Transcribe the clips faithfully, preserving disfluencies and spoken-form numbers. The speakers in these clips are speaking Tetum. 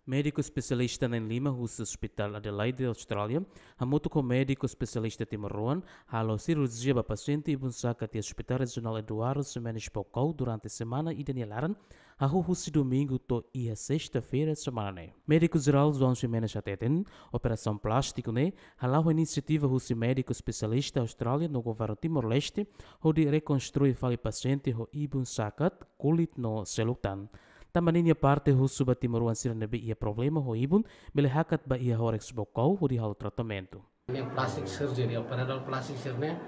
Médiku espesialista na'in-lima husi Hospital Adelaide, Austrália, hamutuk ho médiku espesialista timoroan, halo sirurjia ba pasiente ibun sakat iha Hospital Rejionál Eduardo Ximenes Baucau durante semana ida nia laran, hahú husi domingu to'o iha sesta-feira semana ne'e. Médiku Jerál João Ximenes hateten, operasaun plástiku ne'e hala'o inisiativa husi médiku espesialista Austrália no governu Timor-Leste, hodi rekonstrui fali pasiente ho ibun sakat, kulit no seluk tan. Tanba ninia parte husu ba timoroan sira ne'ebé iha problema ho ibun, bele hakat ba iha Horex Baucau hodi halo tratamentu. Ne'e plastic surgery, operadór plastik sira-ne'e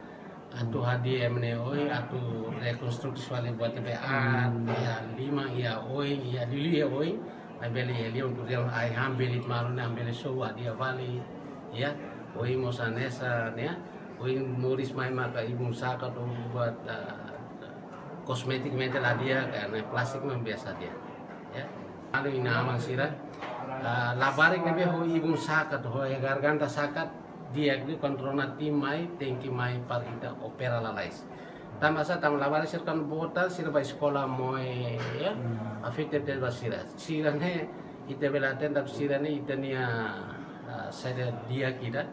atu hadi'a ema nia oin, atu rekonstruksi fali buat ne'ebé aat, iha liman, iha oin, iha liuliu iha oin, maibé iha liman, por ezemplu, ai-han belit malu ne'e, han belit sou, hadi'a fali, ya, oin mós hanesan, ya, oin moris mai maka ibun sakat, buat, ah, kosmetikamente la hadi'a, karena plastik memang biasa hadi'a. Ya. Anu ina aman sira, ah, labarik ne'ebé ho ibun sakat, ho iha garganta sakat, di'ak liu kontrola tim mai, tenke mai para ita opera lalais. Tanba sá, tanba labarik sira kan boot, sira ba eskola moe, ya, afekta tebes ba sira. Sira-ne'e, ita bele hateten sira-ne'e, ita-nia, ah, saida di'ak ida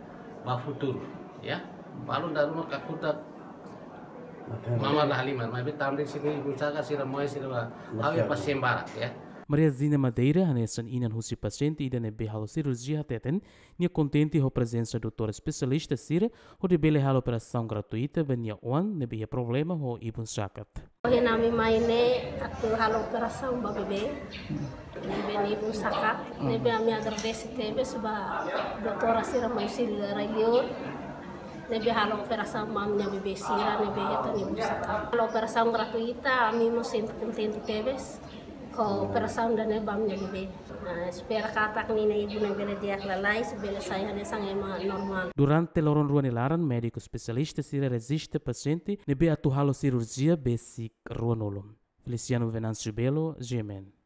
ba futuru, ya. Balun dala ruma kakutak mama la halimar, maibé tanba sira-ne'e ibun sakat, sira moe, sira ba, ha'u iha pasiente barak, ya. Maria Zina Madeira, hanesan inan husi pasiente ida ne'ebé halo sirurjia hateten, nia kontente ho prezensa doutór espesialista sira, hodi bele halo operasaun gratuita ba nia oan ne'ebé iha problema ho ibun sakat. Ohin ami mai ne'e atu halo operasaun ba bebé, bebé nia ibun sakat, ne'ebé ami agradese tebes ba doutór sira mai husi rai-li'ur, ne'ebé halo operasaun ba ami-nia bebé sira ne'ebé hetan ibun sakat. Halo operasaun gratuita, ami mós sente kontente tebes ho operasaun ida-ne'e ba ami-nia bebé. Ah, espera katak ninia ibun ne'e bele di'ak lalais, bele sai hanesan ema normál. Durante loron rua nia laran, médiku espesialista sira rejista pasiente ne'ebé atu halo sirurjia besik ruanulu. Feliciano Venâncio Belo, G M N.